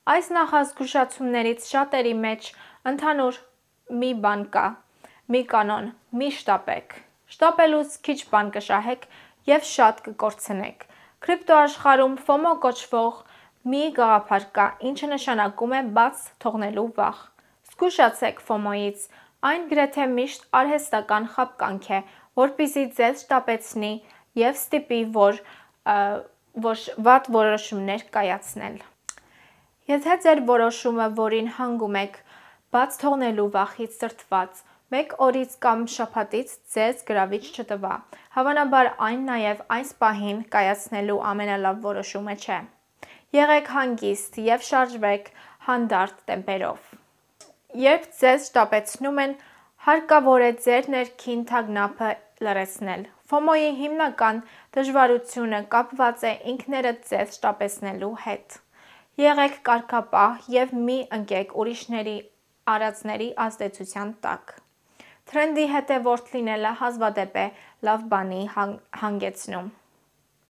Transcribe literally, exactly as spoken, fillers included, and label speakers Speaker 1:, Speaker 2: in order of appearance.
Speaker 1: Այս նախազգուշացումներից շատերի մեջ ընդհանուր մի բան կա, մի կանոն՝ մի շտապեք։ Շտապելուց քիչ բան կշահեք և շատ կկորցնեք։ Կրիպտոաշխարհում ֆոմո կոչվող մի գաղափար կա, ինչը նշանակում է բաց թողնելու վախ։ Զգուշացեք ֆոմոյից, այն գրեթե միշտ արհեստական խաբկանք է, որպեսզի ձեզ շտապեցնի և ստիպի որ, որ վատ որոշումներ կայացնել։ Եթե ձեր որոշումը, որին հանգում եք, բաց թողնելու վախից դրդված, մեկ օրից կամ շաբաթից ձեզ գրավիչ չտվա, հավանաբար այն նաև այս պահին կայացնելու ամենալավ որոշումը չէ։ Եղեք հանգիստ և շարժվեք հանդարտ տեմպերով։ Երբ ձեզ շտապեցնում են, հարկավոր է ձեր ներքին թագնապը լռեցնել։ Ֆոմոյի հիմնական դժվարությունը կապված է ինքներդ ձեզ շտապեցնելու հետ։ Եղեք կարգապահ և մի ընկեք ուրիշների արածների ազդեցության տակ։ Թրենդի հետևորդ լինելը հազվադեպ է լավ բանի հանգեցնում։